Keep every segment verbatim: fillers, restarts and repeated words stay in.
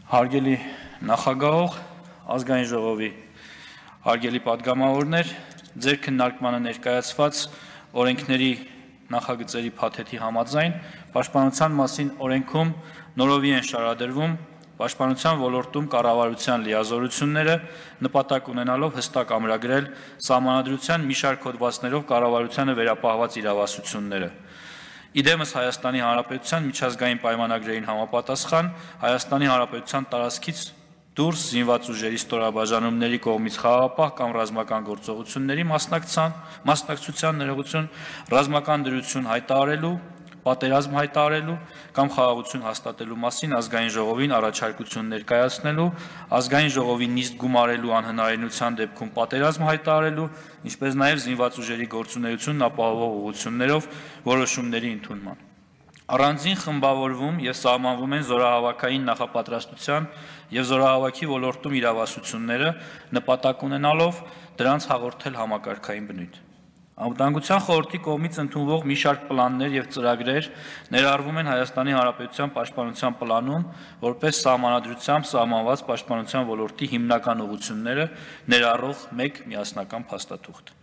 Հարգելի նախագահող, ազգային ժողովի հարգելի պատգամավորներ, ձեր քննարկմանը ներկայացված օրենքների նախագծերի փաթեթի համաձայն պաշտպանության մասին օրենքում նորովի են շարադրվում պաշտպանության ոլորտում կառավարության լիազորությունները նպատակ ունենալով հստակ ամրագրել սահմանադրության մի շարք հոդվածներով կառավարությանը վերապահված իրավասությունները։ Իդեմս Հայաստանի Հանրապետության միջազգային պայմանագրերին համապատասխան Հայաստանի Հանրապետության տարածքից դուրս զինված ուժերի ստորաբաժանումների կողմից խաղաղապահ կամ ռազմական գործողությունների մասնակցության ներողություն, ռազմական դրություն հայտարարելու, պատերազմ հայտարարելու կամ խաղաղություն հաստատելու մասին ազգային ժողովին առաջարկություն ներկայացնելու, ազգային ժողովի նիստ գումարելու անհնարինության դեպքում պատերազմ հայտարարելու, ինչպես նաև զինված ուժերի գործունեությունն ապահովող ուղղություններով որոշումների ընդունման։ Առանձին խմբավորվում և սահմանվում են զորահավաքային նախապատրաստության և զորահավաքի ոլորտում իրավասությունները նպատակ ունենալով դրանց հաղորդել համակարգային բնույթ։ Անվտանգության խորհրդի կողմից ընդունվող մի շարք պլաններ և ծրագրեր ներառվում են Հայաստանի Հանրապետության պաշտպանության պլանում որպես սահմանադրությամբ սահմանված պաշտպանության ոլորտի հիմնական ուղղությունները ներառող մեկ միասնական փաստաթուղթ։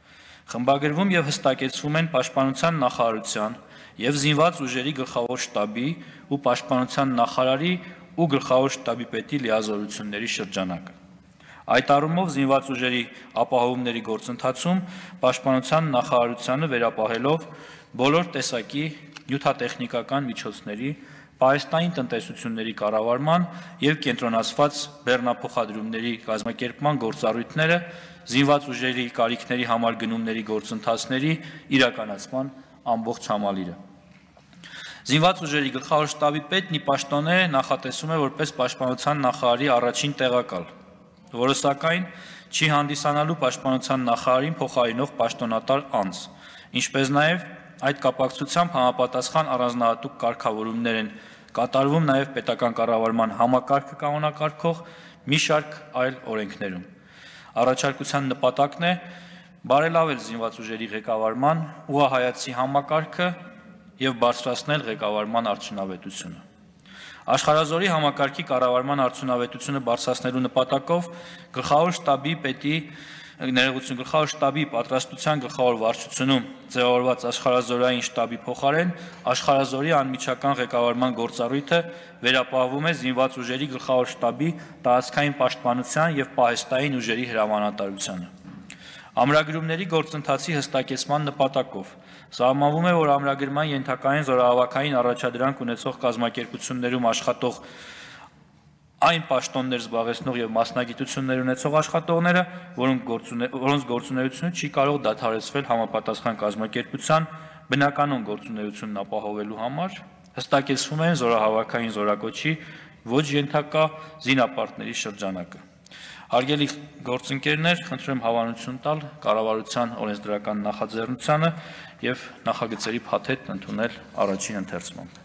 Խմբագրվում և հստակեցվում են պաշտպանության նախարարության և զինված ուժերի գլխավոր շտաբի ու պաշտպանության նախարարի ու գլխավոր շտաբի պետի լիազորությունների շրջանակը։ Այդ առումով զինված ուժերի ապահովումների գործընթացում պաշտպանության նախարարությանը վերապահելով բոլոր տեսակի նյութատեխնիկական միջոցների, պահեստային տնտեսությունների կառավարման և կենտրոնացված բեռնափոխադրումների կազմակերպման գործառույթները զինված ուժերի կարիքների համար գնումների գործընթացների իրականացման ամբողջ համալիրը։ Զինված ուժերի գլխավոր շտաբի պետն ի պաշտոնե նախատեսվում է որպես պաշտպանության նախարարի առաջին տեղակալ, որը սակայն չի հանդիսանալու պաշտպանության նախարարին փոխարինող պաշտոնատար անձ, ինչպես նաև այդ կապակցությամբ համապատասխան առանձնահատուկ կարգավորումներ են կատարվում նաև պետական կառավարման համակարգը կանոնակարգող մի շարք այլ օրենքներում։ Առաջարկության նպատակն է բարելավել զինված ուժերի ղեկավարման ուղղահայացի համակարգը և բարձրացնել ղեկավարման արդյունավետությունը։ Աշխարհազորի համակարգի կառավարման արդյունավետությունը բարձրացնելու նպատակով գլխավոր շտաբի պետի ներողություն գլխավոր շտաբի պատրաստության գլխավոր վարչությունում ձևավորված աշխարհազորային շտաբի փոխարեն աշխարհազորի անմիջական ղեկավարման գործառույթը վերապահվում է զինված ուժերի գլխավոր շտաբի տարածքային պաշտպանության և պահեստային ուժերի հրամանատարությանը։ Ամրագրումների գործընթացի հստակեցման նպատակով սահմանվում է, որ ամրագրման ենթակա են զորահավաքային առաջադրանք ունեցող կազմակերպություններում աշխատող այն պաշտոններ զբաղեցնող և մասնագիտություններ ունեցող աշխատողները, որոնց գործունեությունը չի կարող դադարեցվել համապատասխան կազմակերպության բնականոն գործունեությունն ապահովելու համար, հստակեցվում են զորահավաքային զորակոչի ոչ ենթակա զինապարտների շրջանակը։ Հարգելի գործընկերներ, խնդրում եմ հավանություն տալ կառավարության օրենսդրական նախաձեռնությանը և նախագծերի փաթեթն ընդունել առաջին ընթերցմամբ։